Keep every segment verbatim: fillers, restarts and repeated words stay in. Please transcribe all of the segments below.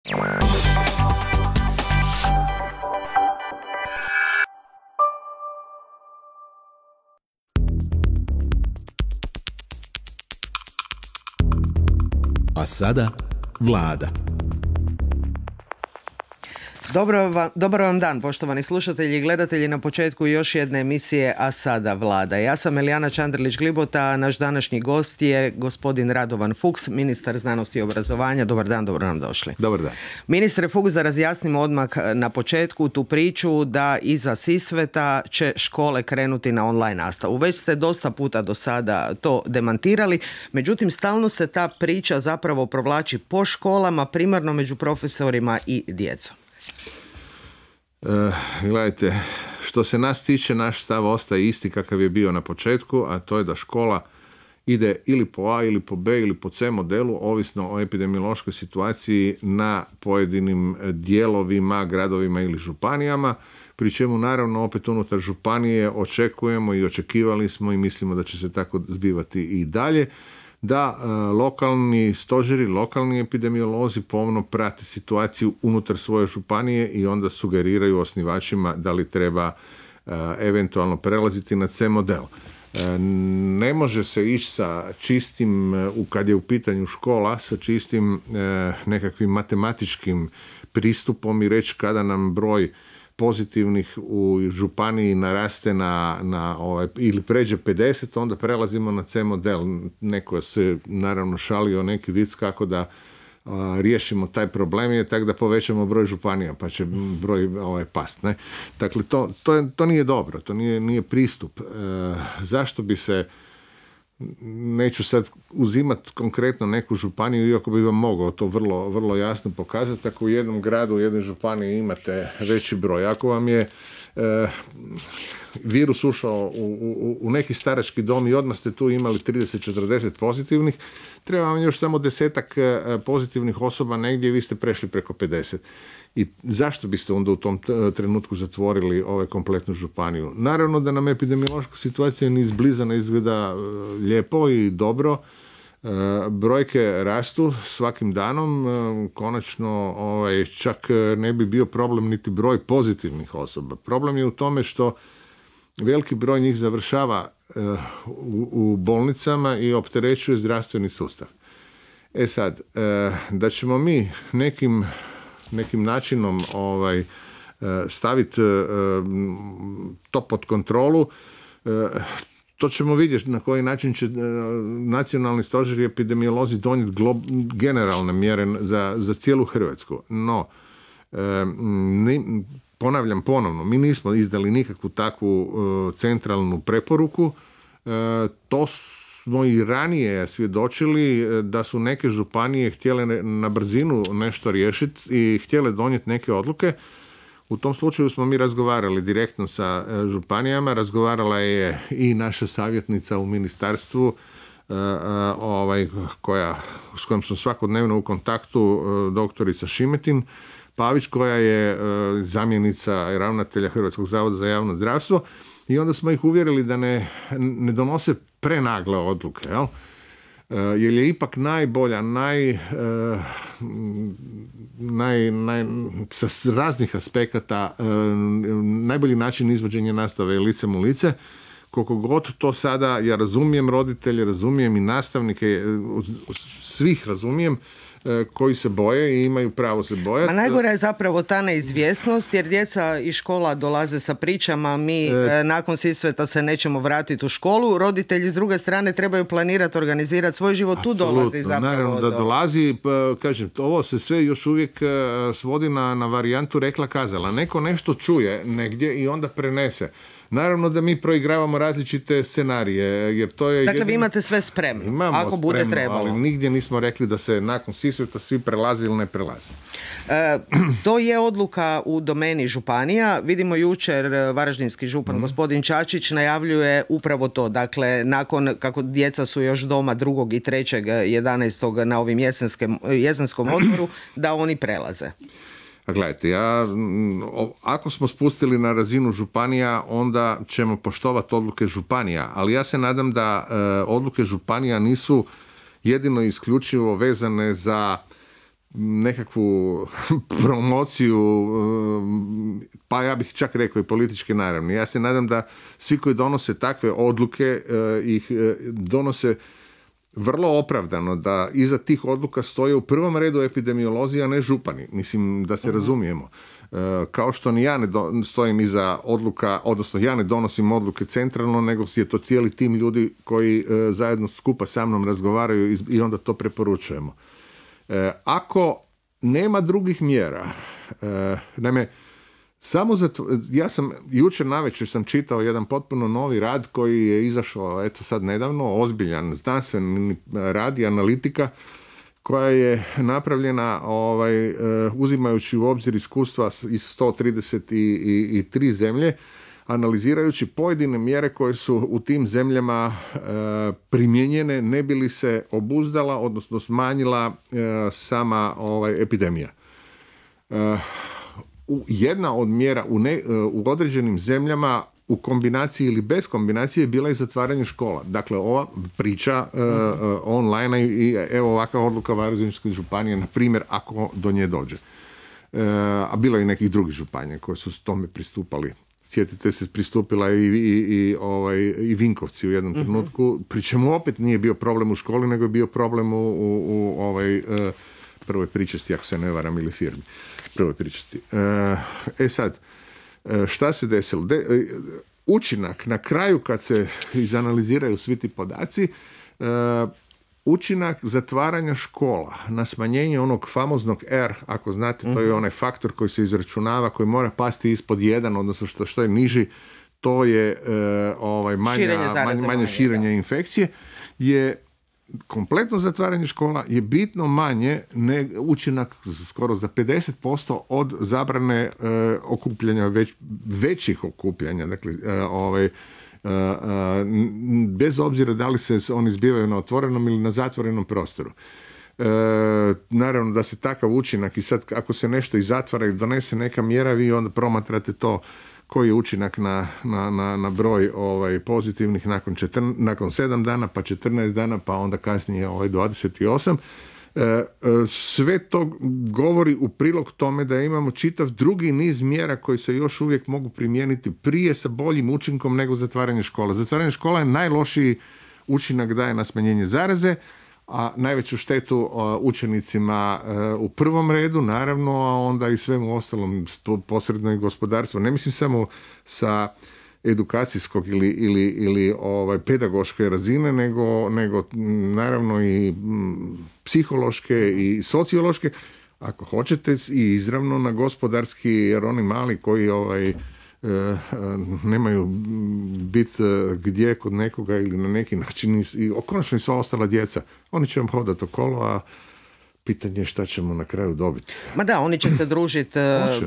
A sada Vlada. Dobro vam, dobar vam dan, poštovani slušatelji i gledatelji, na početku još jedne emisije A sada Vlada. Ja sam Elijana Čandrlić-Glibota, a naš današnji gost je gospodin Radovan Fuchs, ministar znanosti i obrazovanja. Dobar dan, dobro nam došli. Dobar dan. Ministre Fuchs, da razjasnimo odmah na početku tu priču da iza Sisveta će škole krenuti na online nastavu. Već ste dosta puta do sada to demantirali, međutim stalno se ta priča zapravo provlači po školama, primarno među profesorima i djecom. Uh, gledajte, što se nas tiče, naš stav ostaje isti kakav je bio na početku, a to je da škola ide ili po A ili po B ili po C modelu, ovisno o epidemiološkoj situaciji na pojedinim dijelovima, gradovima ili županijama, pri čemu naravno opet unutar županije očekujemo i očekivali smo i mislimo da će se tako zbivati i dalje, da e, lokalni stožeri, lokalni epidemiolozi pomno prate situaciju unutar svoje županije i onda sugeriraju osnivačima da li treba e, eventualno prelaziti na C model. E, ne može se ići sa čistim, u, kad je u pitanju škola, sa čistim e, nekakvim matematičkim pristupom i reći kada nam broj pozitivnih u županiji naraste na, na ovaj, ili pređe pedeset, onda prelazimo na C model. Neko se naravno šalio neki vic kako da a, riješimo taj problem je tako da povećamo broj županija pa će broj ovaj, past. Ne? Dakle, to, to, je, to nije dobro, to nije, nije pristup. E, zašto bi se, neću sad uzimati konkretno neku županiju, iako bi vam mogao to vrlo, vrlo jasno pokazati, ako u jednom gradu, u jednoj županiji imate veći broj, ako vam je e, virus ušao u, u, u neki starački dom i odmah ste tu imali trideset do četrdeset pozitivnih, treba vam još samo desetak pozitivnih osoba negdje i vi ste prešli preko pedeset. I zašto biste onda u tom trenutku zatvorili ovaj kompletnu županiju? Naravno da nam epidemiološka situacija ni izbliza ne izgleda lijepo i dobro. Brojke rastu svakim danom. Konačno ovaj, čak ne bi bio problem niti broj pozitivnih osoba. Problem je u tome što veliki broj njih završava u, u bolnicama i opterećuje zdravstveni sustav. E sad, da ćemo mi nekim nekim načinom ovaj, staviti to pod kontrolu, to ćemo vidjeti na koji način će nacionalni stožer i epidemiolozi donijeti glob, generalne mjere za, za cijelu Hrvatsku. No, ni, ponavljam ponovno, mi nismo izdali nikakvu takvu centralnu preporuku. To smo i ranije svjedočili da su neke županije htjele na brzinu nešto riješiti i htjele donijeti neke odluke. U tom slučaju smo mi razgovarali direktno sa županijama, razgovarala je i naša savjetnica u ministarstvu, ovaj, koja, s kojom sam svakodnevno u kontaktu, doktorica Šimetin Pavić, koja je zamjenica ravnatelja Hrvatskog zavoda za javno zdravstvo. I onda smo ih uvjerili da ne, ne donose prenagle odluke, jel? Jer je ipak najbolja, naj, naj, naj, sa raznih aspekata najbolji način izvođenja nastave je licem u lice. Koliko god to sada, ja razumijem roditelje, razumijem i nastavnike, svih razumijem, koji se boje i imaju pravo se bojati. A najgora je zapravo ta neizvjesnost, jer djeca iz škola dolaze sa pričama, mi e, nakon Sisveta se nećemo vratiti u školu, roditelji s druge strane trebaju planirati, organizirati svoj život, tu dolazi zapravo. Naravno da do... dolazi, pa, kažem, ovo se sve još uvijek svodi na, na varijantu rekla kazala. Neko nešto čuje negdje i onda prenese. Naravno da mi proigravamo različite scenarije, jer to je... Dakle, jedin... vi imate sve spremno, Imamo ako bude spremno, trebalo. Ali nigdje nismo rekli da se nakon Sisveta svi prelazi ili ne prelazi. E, to je odluka u domeni županija. Vidimo jučer varaždinski župan mm. gospodin Čačić najavljuje upravo to. Dakle, nakon kako djeca su još doma drugog i trećeg jedanaestog na ovim jesenskem, jesenskom odmoru, da oni prelaze. A gledajte, ja, ako smo spustili na razinu županija, onda ćemo poštovati odluke županija, ali ja se nadam da e, odluke županija nisu jedino isključivo vezane za nekakvu promociju, pa ja bih čak rekao i političke naravne. Ja se nadam da svi koji donose takve odluke ih donose vrlo opravdano, da iza tih odluka stoje u prvom redu epidemiolozi, a ne župani. Mislim, da se uh-huh. razumijemo. Kao što ni ja ne do, stojim iza odluka, odnosno ja ne donosim odluke centralno, nego je to cijeli tim ljudi koji zajedno skupa sa mnom razgovaraju i onda to preporučujemo. Ako nema drugih mjera, naime, samo za to, ja sam jučer navečer sam čitao jedan potpuno novi rad koji je izašao eto sad nedavno, ozbiljan znanstveni rad i analitika koja je napravljena ovaj, uzimajući u obzir iskustva iz sto trideset tri zemlje, analizirajući pojedine mjere koje su u tim zemljama e, primijenjene ne bi li se obuzdala, odnosno smanjila e, sama ovaj, epidemija. E, u, jedna od mjera u, ne, u određenim zemljama u kombinaciji ili bez kombinacije bila je zatvaranje škola. Dakle, ova priča e, online i evo ovakva odluka Varaždinske županije, na primjer, ako do nje dođe. E, a bilo je i nekih drugih županija koje su tome pristupali. Sjetite se, pristupila i, i, i, ovaj, i Vinkovci u jednom trenutku, uh-huh. pri čemu opet nije bio problem u školi, nego je bio problem u, u, u ovaj, uh, prvoj pričesti, ako se ne varam, ili firmi. Prvoj pričesti. Uh, e sad, uh, šta se desilo? De, uh, učinak na kraju, kad se izanaliziraju svi ti podaci, uh, učinak zatvaranja škola na smanjenje onog famoznog R, ako znate, to je onaj faktor koji se izračunava, koji mora pasti ispod jedan, odnosno što, što je niži, to je e, ovaj, manja, manje, manje širenje da. infekcije, je kompletno zatvaranje škola je bitno manje, ne, učinak skoro za pedeset posto od zabrane e, okupljanja, već, većih okupljanja, dakle, e, ovaj, Uh, uh, bez obzira da li se oni zbivaju na otvorenom ili na zatvorenom prostoru. Uh, naravno da se takav učinak i sad ako se nešto i zatvara i donese neka mjera, vi onda promatrate to koji je učinak na, na, na, na broj ovaj, pozitivnih nakon, četrn, nakon sedam dana, pa četrnaest dana, pa onda kasnije ovaj, dvadeset osam. Sve to govori u prilog tome da imamo čitav drugi niz mjera koji se još uvijek mogu primijeniti prije sa boljim učinkom nego zatvaranje škola. Zatvaranje škola je najlošiji učinak daje na smanjenje zaraze, a najveću štetu učenicima u prvom redu, naravno, a onda i svemu ostalom, posredno i gospodarstvo. Ne mislim samo sa edukacijskog ili, ili, ili ovaj, pedagoške razine, nego, nego naravno i m, psihološke i sociološke, ako hoćete, i izravno na gospodarski, jer oni mali koji ovaj, e, nemaju biti gdje kod nekoga ili na neki način, i konačno i sva ostala djeca, oni će vam hodati okolo, a pitanje je šta ćemo na kraju dobiti. Ma da, oni će se družiti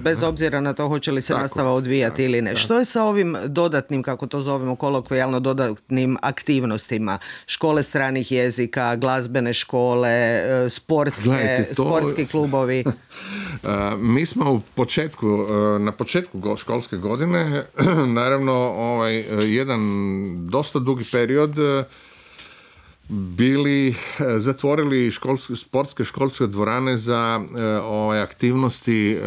bez ne? obzira na to hoće li se tako, nastava odvijati tako, ili ne. Tako. Što je sa ovim dodatnim, kako to zovemo kolokvijalno, dodatnim aktivnostima? Škole stranih jezika, glazbene škole, sportske, Gledajte, to... sportski klubovi? Mi smo u početku, na početku školske godine, naravno ovaj, jedan dosta dugi period bili zatvorili školske, sportske školske dvorane za e, ove aktivnosti e,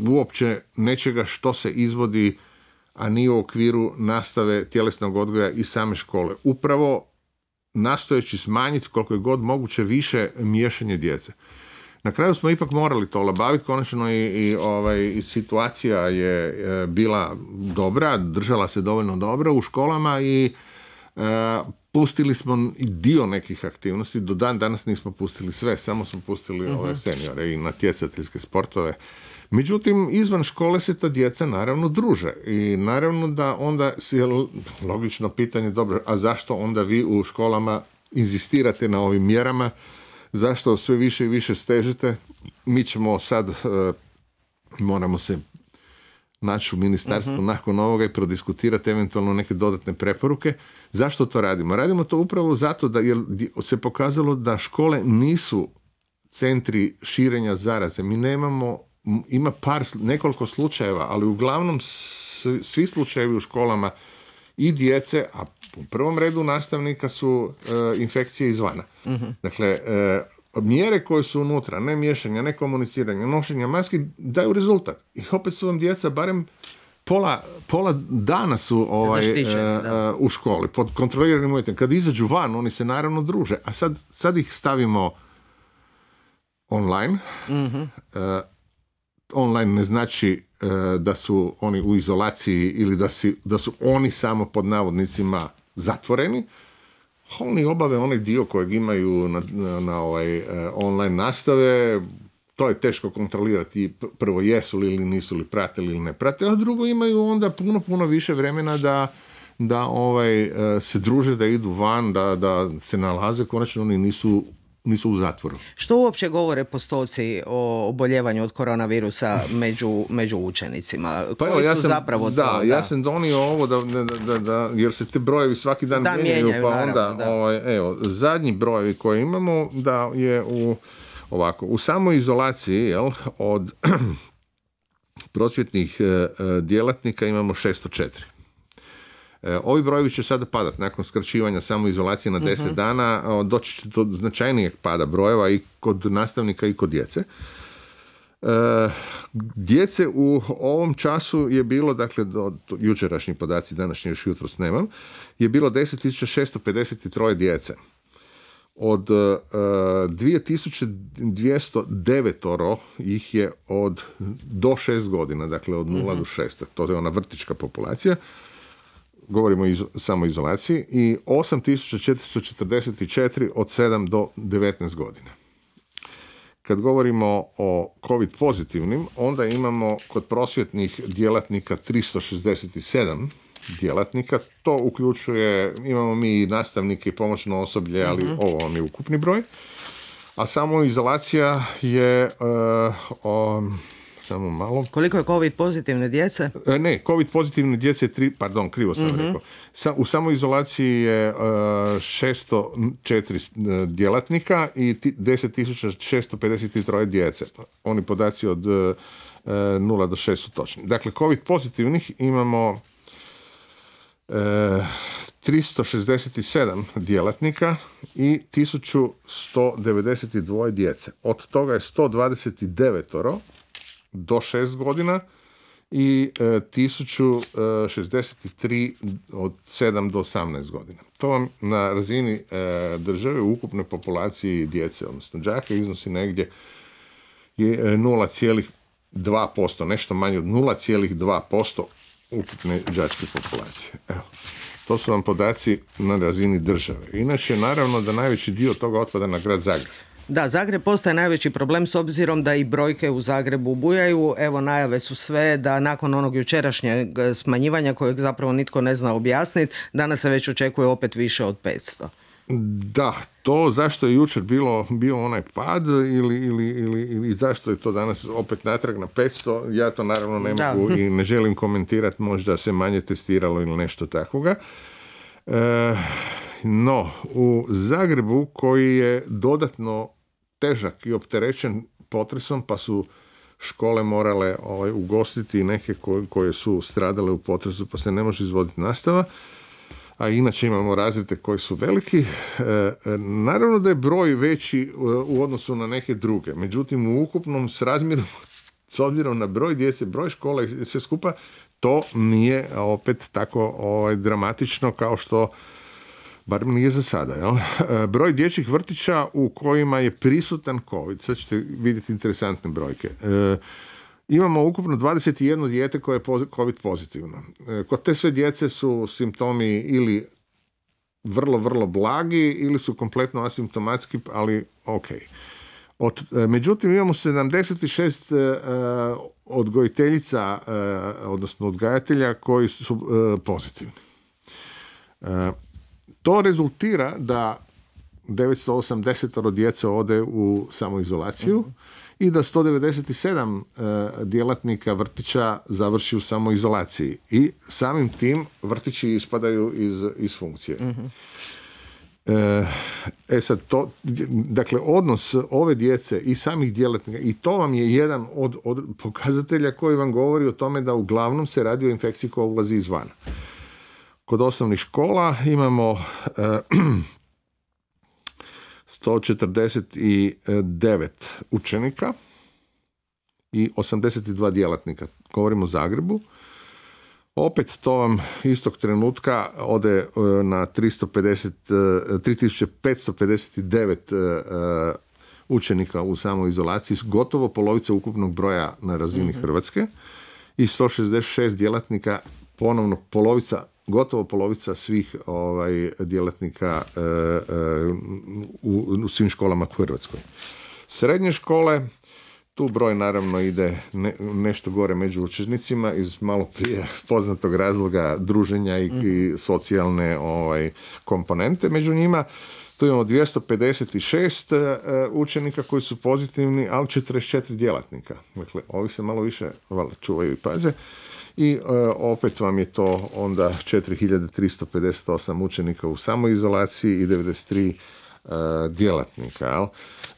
uopće nečega što se izvodi, a nije u okviru nastave tjelesnog odgoja i same škole. Upravo nastojeći smanjiti koliko je god moguće više miješanje djece. Na kraju smo ipak morali to olabaviti, konačno i, i, ovaj, i situacija je e, bila dobra, držala se dovoljno dobro u školama i e, pustili smo i dio nekih aktivnosti, do dan danas nismo pustili sve, samo smo pustili uh-huh. ove seniore i natjecateljske sportove. Međutim, izvan škole se ta djeca naravno druže i naravno da onda je logično pitanje, dobro, a zašto onda vi u školama inzistirate na ovim mjerama, zašto sve više i više stežete? Mi ćemo sad, uh, moramo se naći u ministarstvu uh-huh. nakon ovoga i prodiskutirati eventualno neke dodatne preporuke. Zašto to radimo? Radimo to upravo zato da jer se pokazalo da škole nisu centri širenja zaraze. Mi nemamo, ima par, nekoliko slučajeva, ali uglavnom svi slučajevi u školama i djece, a u prvom redu nastavnika su e, infekcije izvana. Uh-huh. Dakle, e, mjere koje su unutra, ne miješanja, ne komuniciranja, nošenja maski, daju rezultat. I opet su vam djeca barem Pola, pola dana su ovaj, uh, uh, u školi, pod kontroliranim uvjetima. Kad izađu van, oni se naravno druže. A sad, sad ih stavimo online. Mm-hmm. Uh, online ne znači uh, da su oni u izolaciji ili da, si, da su oni samo pod navodnicima zatvoreni. Oni obave onaj dio kojeg imaju na, na, na ovaj, uh, online nastave. To je teško kontrolirati, prvo jesu li ili nisu li pratili ili ne prate, a drugo imaju onda puno, puno više vremena da, da ovaj, se druže, da idu van, da, da se nalaze, konačno oni nisu, nisu u zatvoru. Što uopće govore postoci o oboljevanju od koronavirusa među, među učenicima? Pa evo, ja sam, zapravo da, to, da, ja sam donio ovo, da, da, da, da, jer se te brojevi svaki dan da, mijenjaju, mijenjaju, pa naravno, onda, da. Ovaj, evo, zadnji brojevi koje imamo, da je u Ovako, u samoizolaciji, jel, od prosvjetnih e, djelatnika imamo šesto četiri. E, ovi brojevi će sada padati nakon skraćivanja samoizolacije na deset uh-huh. dana, doći će do značajnijeg pada brojeva i kod nastavnika i kod djece. E, djece u ovom času je bilo, dakle, do, do jučerašnji podaci, današnji još jutros nemam, je bilo deset tisuća šesto pedeset tri djece. Od uh, dvije tisuće dvjesto devet ih je od do šest godina, dakle od nula mm-hmm. do šest. To je ona vrtićka populacija. Govorimo o izo, samoizolaciji. I osam tisuća četiristo četrdeset četiri od sedam do devetnaest godina. Kad govorimo o COVID pozitivnim, onda imamo kod prosvjetnih djelatnika tristo šezdeset sedam djelatnika. To uključuje, imamo mi nastavnike i pomoćno osoblje, ali mm-hmm. ovo vam je ukupni broj. A samo izolacija je uh, um, samo malo. Koliko je COVID pozitivne djece? E, ne, COVID pozitivne djece, tri, pardon, krivo sam mm-hmm. rekao. Sa, u samoizolaciji je uh, šesto četiri djelatnika i deset tisuća šesto pedeset tri djece. Oni podaci od uh, nula do šest su točni. Dakle, COVID pozitivnih imamo E, tristo šezdeset sedam djelatnika i tisuću sto devedeset dva djece. Od toga je sto dvadeset devet do šest godina i e, tisuću šezdeset tri od sedam do osamnaest godina. To vam na razini e, države u ukupnoj populaciji djece, odnosno đaka, iznosi negdje je nula zarez dva posto, nešto manje od nula zarez dva posto ukupne đačke populacije. Evo, to su vam podaci na razini države. Inače, naravno da najveći dio toga otpada na grad Zagreb. Da, Zagreb postaje najveći problem s obzirom da i brojke u Zagrebu bujaju. Evo, najave su sve da nakon onog jučerašnjeg smanjivanja kojeg zapravo nitko ne zna objasniti, danas se već očekuje opet više od petsto. Da, to zašto je jučer bilo, bio onaj pad ili, ili, ili, ili zašto je to danas opet natrag na petsto, ja to naravno ne da. mogu i ne želim komentirati, možda se manje testiralo ili nešto takvoga. E, no, u Zagrebu koji je dodatno težak i opterećen potresom, pa su škole morale ovaj, ugostiti neke koje, koje su stradale u potresu, pa se ne može izvoditi nastava, a inače imamo razrede koji su veliki. E, naravno da je broj veći u odnosu na neke druge, međutim u ukupnom srazmjeru, s obzirom na broj djece, broj škola i sve skupa, to nije opet tako ovaj, dramatično kao što, bar nije za sada. Jel? E, broj dječjih vrtića u kojima je prisutan COVID, sad ćete vidjeti interesantne brojke. E, Imamo ukupno dvadeset jedno dijete koje je COVID pozitivno. Kod te sve djece su simptomi ili vrlo, vrlo blagi ili su kompletno asimptomatski, ali ok. Od, međutim, imamo sedamdeset šest uh, odgojiteljica, uh, odnosno odgajatelja koji su uh, pozitivni. Uh, to rezultira da devetsto osamdeset djece ode u samoizolaciju, uh-huh. i da sto devedeset sedam uh, djelatnika vrtića završi u samoizolaciji. I samim tim vrtići ispadaju iz, iz funkcije. Uh-huh. E sad, to, dakle, odnos ove djece i samih djelatnika, i to vam je jedan od, od pokazatelja koji vam govori o tome da uglavnom se radi o infekciji koja ulazi izvana. Kod osnovnih škola imamo uh, sto četrdeset devet učenika i osamdeset dva djelatnika. Govorimo o Zagrebu. Opet to vam istog trenutka ode na tristo pedeset, tri tisuće petsto pedeset devet učenika u samoizolaciji, gotovo polovica ukupnog broja na razini mm-hmm. Hrvatske, i sto šezdeset šest djelatnika, ponovno polovica, gotovo polovica svih ovaj, djelatnika e, e, u, u svim školama u Hrvatskoj. Srednje škole, tu broj naravno ide ne, nešto gore među učenicima iz malo prije poznatog razloga druženja i, mm-hmm. i socijalne ovaj, komponente među njima. Tu imamo dvjesto pedeset šest uh, učenika koji su pozitivni, ali četrdeset četiri djelatnika. Dakle, ovi se malo više valjda čuvaju i paze. I uh, opet vam je to onda četiri hiljade tristo pedeset osam učenika u samoizolaciji i devedeset tri uh, djelatnika. Jel?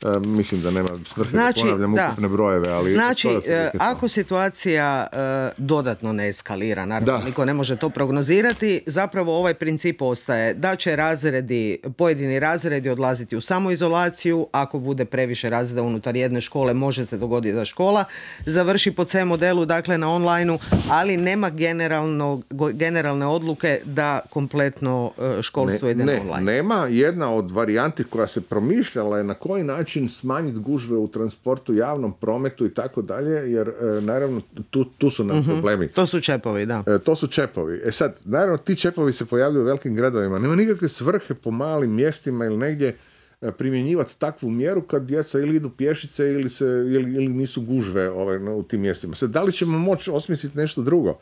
Uh, mislim da nema svrhe znači, da ponavljam da. ukupne brojeve. Ali znači, uh, ako situacija uh, dodatno ne eskalira, naravno da. niko ne može to prognozirati, zapravo ovaj princip ostaje da će razredi, pojedini razredi odlaziti u samoizolaciju. Ako bude previše razreda unutar jedne škole, može se dogoditi da škola završi po C modelu, dakle na online-u, ali nema generalno, generalne odluke da kompletno uh, školstvo ne, ide ne, na online. Nema. Jedna od varijanti koja se promišljala je na koji način smanjiti gužve u transportu, javnom prometu i tako dalje, jer e, naravno tu, tu su nam uh-huh. problemi. To su čepovi, da. E, to su čepovi. E sad, naravno ti čepovi se pojavljuju u velikim gradovima. Nema nikakve svrhe po malim mjestima ili negdje e, primjenjivati takvu mjeru kad djeca ili idu pješice ili, se, ili, ili nisu gužve ovaj, no, u tim mjestima. Sad, da li ćemo moći osmisliti nešto drugo?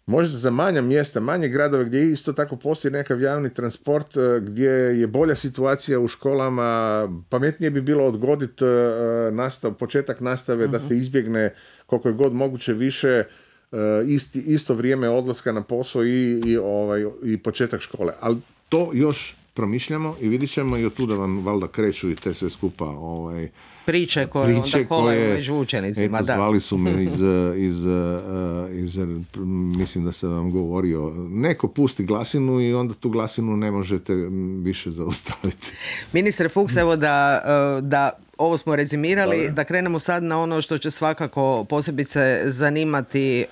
Možda za manja mjesta, manje gradove gdje isto tako postoji nekav javni transport, gdje je bolja situacija u školama, pametnije bi bilo odgoditi nastav, početak nastave uh-huh. da se izbjegne koliko je god moguće više isti, isto vrijeme odlaska na posao i, i, ovaj, i početak škole. Ali to još promišljamo i vidit ćemo i od tuda vam valjda kreću i te sve skupa ovaj, priče koje priče onda kolaju među učenicima. Eto, zvali su me iz, iz, iz, iz, mislim da sam vam govorio, neko pusti glasinu i onda tu glasinu ne možete više zaustaviti. Ministre Fuchs, evo da, da ovo smo rezimirali, Dobre. da krenemo sad na ono što će svakako posebice zanimati e,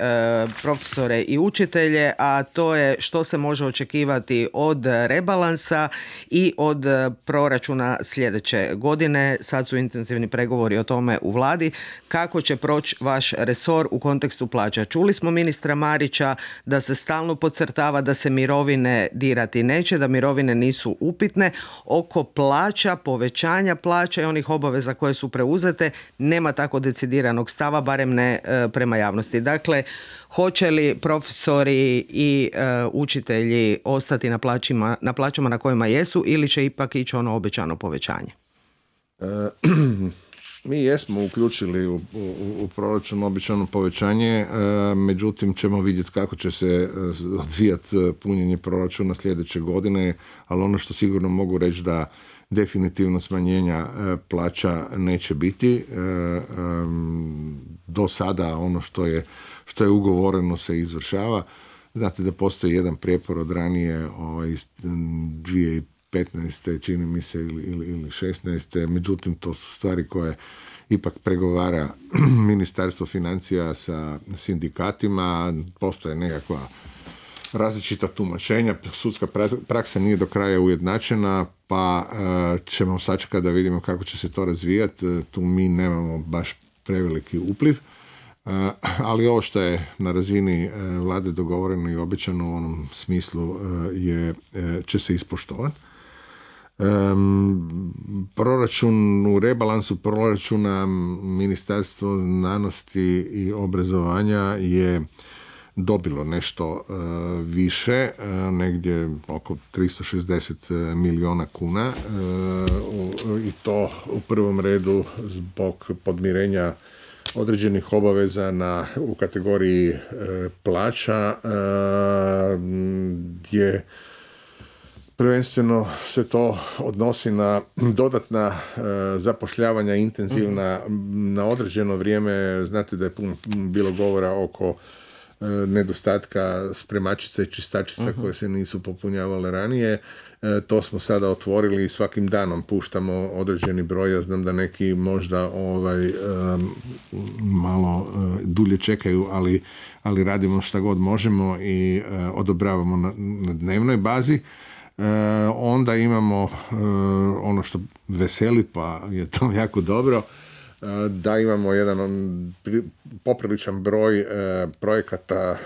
profesore i učitelje, a to je što se može očekivati od rebalansa i od proračuna sljedeće godine. Sad su intenzivni pregovori o tome u vladi. Kako će proći vaš resor u kontekstu plaća? Čuli smo ministra Marića da se stalno podcrtava da se mirovine dirati neće, da mirovine nisu upitne. Oko plaća, povećanja plaća i onih obaveza za koje su preuzete, nema tako decidiranog stava, barem ne e, prema javnosti. Dakle, hoće li profesori i e, učitelji ostati na plaćima, na plaćama na kojima jesu ili će ipak ići ono obećano povećanje? E, mi jesmo uključili u, u, u proračun obećano povećanje, e, međutim ćemo vidjeti kako će se odvijati punjenje proračuna sljedeće godine, ali ono što sigurno mogu reći da definitivno smanjenja e, plaća neće biti. E, e, do sada ono što je, što je ugovoreno se izvršava. Znate da postoji jedan prijepor od ranije ovaj, dvije tisuće petnaeste čini mi se ili, ili, ili šesnaeste Međutim, to su stvari koje ipak pregovara Ministarstvo financija sa sindikatima. Postoje nekakva različita tumačenja, sudska praksa nije do kraja ujednačena, pa uh, ćemo sačekati da vidimo kako će se to razvijati. Tu mi nemamo baš preveliki upliv, uh, ali ovo što je na razini uh, vlade dogovoreno i obećano u onom smislu uh, je, uh, će se ispoštovati. Um, proračun u rebalansu proračuna Ministarstvo znanosti i obrazovanja je dobilo nešto uh, više, uh, negdje oko tristo šezdeset milijuna kuna uh, i to u prvom redu zbog podmirenja određenih obaveza na, u kategoriji uh, plaća uh, gdje prvenstveno se to odnosi na dodatna uh, zapošljavanja intenzivna mm-hmm. na određeno vrijeme. Znate da je puno bilo govora oko nedostatka spremačica i čistačica uh-huh. koje se nisu popunjavale ranije. E, to smo sada otvorili i svakim danom puštamo određeni broj. Ja znam da neki možda ovaj, e, malo e, dulje čekaju, ali, ali radimo šta god možemo i e, odobravamo na, na dnevnoj bazi. E, onda imamo e, ono što veseli, pa je to jako dobro, da imamo jedan popriličan broj e, projekata e,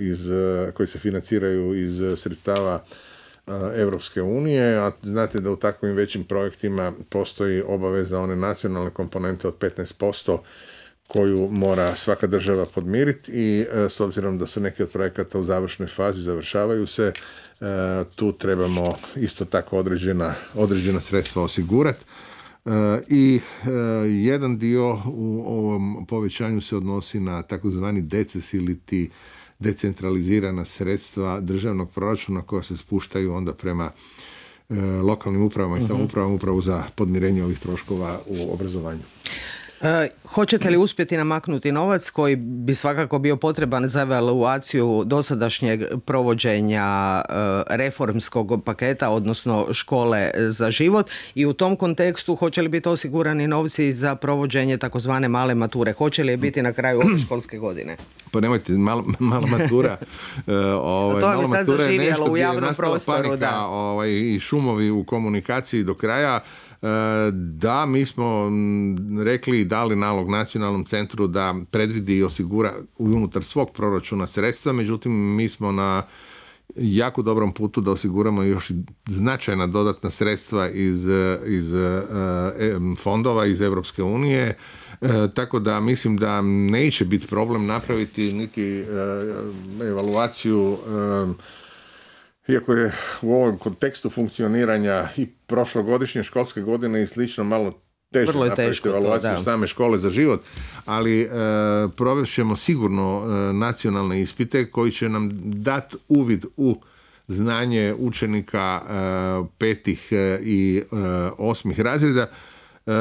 iz, koji se financiraju iz sredstava e, Europske unije, a znate da u takvim većim projektima postoji obaveza one nacionalne komponente od petnaest posto koju mora svaka država podmiriti i e, s obzirom da su neki od projekata u završnoj fazi, završavaju se, e, tu trebamo isto tako određena, određena sredstva osigurati. I jedan dio u ovom povećanju se odnosi na takozvani deces ili ti decentralizirana sredstva državnog proračuna koja se spuštaju onda prema lokalnim upravama i samoupravama upravo za podmirenje ovih troškova u obrazovanju. E, hoćete li uspjeti namaknuti novac koji bi svakako bio potreban za evaluaciju dosadašnjeg provođenja e, reformskog paketa, odnosno škole za život, i u tom kontekstu hoće li biti osigurani novci za provođenje takozvane male mature? Hoće li je biti na kraju ove školske godine? Pa nemojte, mal, mala matura. Uh, ovaj, to je sad zaživjelo u javnom prostoru. Panika, da. Ovaj, i šumovi u komunikaciji do kraja. Da, mi smo rekli i dali nalog Nacionalnom centru da predvidi i osigura unutar svog proračuna sredstva, međutim mi smo na jako dobrom putu da osiguramo još značajna dodatna sredstva iz, iz fondova iz Europske unije, tako da mislim da neće biti problem napraviti niti evaluaciju. Iako je u ovom kontekstu funkcioniranja i prošlogodišnje školske godine i slično malo teže napraviti evaluaciju same škole za život, ali e, provest ćemo sigurno e, nacionalne ispite koji će nam dati uvid u znanje učenika e, petih e, i e, osmih razreda. E,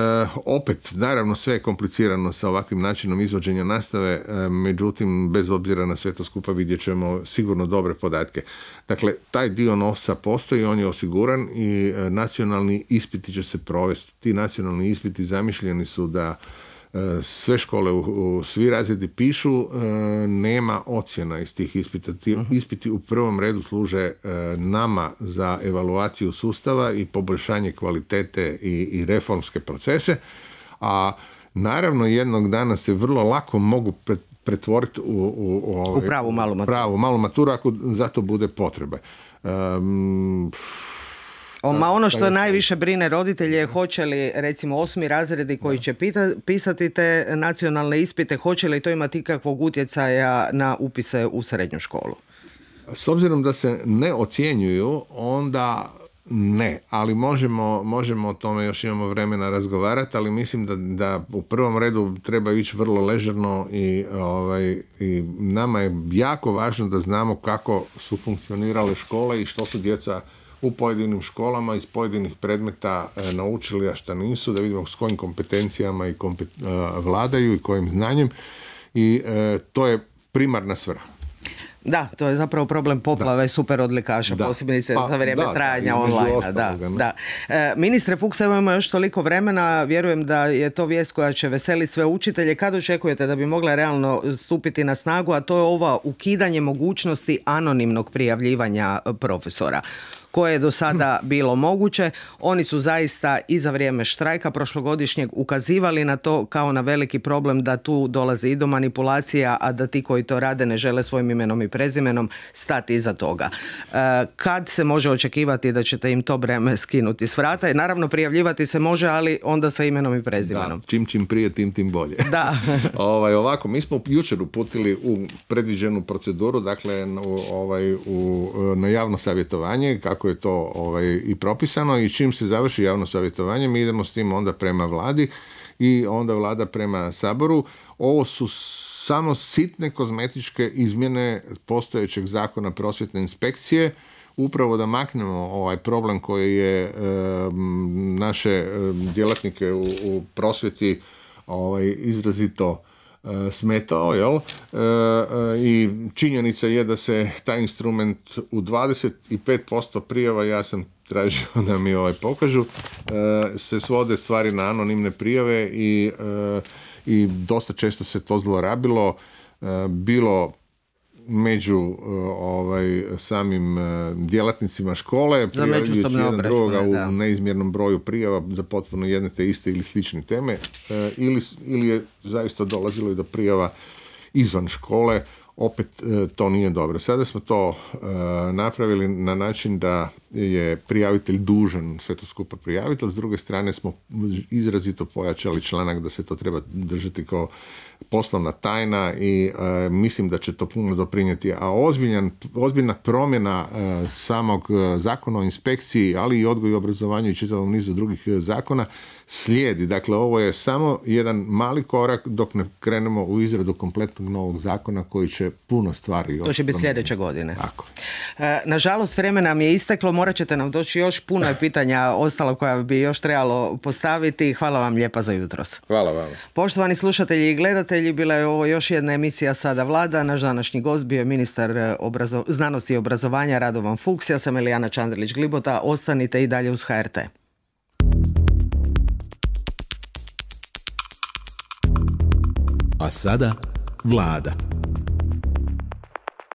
opet, naravno, sve je komplicirano sa ovakvim načinom izvođenja nastave, e, međutim, bez obzira na sve to skupa vidjet ćemo sigurno dobre podatke. Dakle, taj dio novca postoji, on je osiguran i e, nacionalni ispiti će se provesti. Ti nacionalni ispiti zamišljeni su da e, sve škole u, u svi razredi pišu, e, nema ocjena iz tih ispita. Ti ispiti u prvom redu služe e, nama za evaluaciju sustava i poboljšanje kvalitete i, i reformske procese, a naravno jednog dana se vrlo lako mogu pret, pretvoriti u, u, u, ove, u pravu malu maturu. pravu malu maturu ako za to bude potrebe. Um, O, ma ono što najviše brine roditelje je hoće li recimo osmi razredi koji će pita, pisati te nacionalne ispite, hoće li to imati ikakvog utjecaja na upise u srednju školu? S obzirom da se ne ocjenjuju, onda ne, ali možemo, možemo o tome, još imamo vremena razgovarati, ali mislim da, da u prvom redu treba ići vrlo ležerno i, ovaj, i nama je jako važno da znamo kako su funkcionirale škole i što su djeca u pojedinim školama iz pojedinih predmeta e, naučili, a šta nisu, da vidimo s kojim kompetencijama i kompet, e, vladaju i kojim znanjem, i e, to je primarna svrha. Da, to je zapravo problem poplave da. super odlikaša, posebice pa, za vrijeme da, trajanja da, online. Ostaloga, da, da. E, ministre Fuchs, evo imamo još toliko vremena, vjerujem da je to vijest koja će veseliti sve učitelje. Kad očekujete da bi mogla realno stupiti na snagu, a to je ova ukidanje mogućnosti anonimnog prijavljivanja profesora, koje je do sada bilo moguće? Oni su zaista i za vrijeme štrajka prošlogodišnjeg ukazivali na to kao na veliki problem, da tu dolazi i do manipulacija, a da ti koji to rade ne žele svojim imenom i prezimenom stati iza toga. E, kad se može očekivati da ćete im to breme skinuti s vrata? Naravno, prijavljivati se može, ali onda sa imenom i prezimenom. Da, čim čim prije, tim tim bolje. Da. ovaj, ovako, mi smo jučer uputili u predviđenu proceduru, dakle u, ovaj, u, na javno savjetovanje, kako je to ovaj, i propisano, i čim se završi javno savjetovanje mi idemo s tim onda prema vladi i onda vlada prema Saboru. Ovo su samo sitne kozmetičke izmjene postojećeg zakona prosvjetne inspekcije, upravo da maknemo ovaj problem koji je e, naše djelatnike u, u prosvjeti ovaj, izrazito smetao, jel? E, I činjenica je da se taj instrument u dvadeset pet posto prijava, ja sam tražio da mi ovaj pokažu, e, se svode stvari na anonimne prijave i, e, i dosta često se to zlorabilo, e, bilo među ovaj, samim djelatnicima škole, prijavljujući jedan drugoga u neizmjernom broju prijava za potpuno jedne te iste ili slične teme, e, ili, ili je zaista dolazilo i do prijava izvan škole. Opet e, to nije dobro. Sada smo to e, napravili na način da je prijavitelj dužan sve to skupa prijaviti, a s druge strane smo izrazito pojačali članak da se to treba držati kao poslovna tajna i e, mislim da će to puno doprinijeti. A ozbiljan, ozbiljna promjena e, samog zakona o inspekciji, ali i odgoju i obrazovanju i čitavom nizu drugih zakona slijedi. Dakle, ovo je samo jedan mali korak dok ne krenemo u izradu kompletnog novog zakona koji će puno stvari... To će biti sljedeće godine. Tako. E, nažalost, vremena nam je isteklo, morat ćete nam doći još puno je pitanja ostalo koja bi još trebalo postaviti. Hvala vam lijepa za jutros. Hvala vam. Poštovani slušatelji i gledatelji, bila je ovo još jedna emisija Sada Vlada. Naš današnji gost bio je ministar obrazo- znanosti i obrazovanja Radovan Fuchs. Ja sam Elijana Čandrlić-Glibota. Ostanite i dalje uz H R T. A sada Vlada.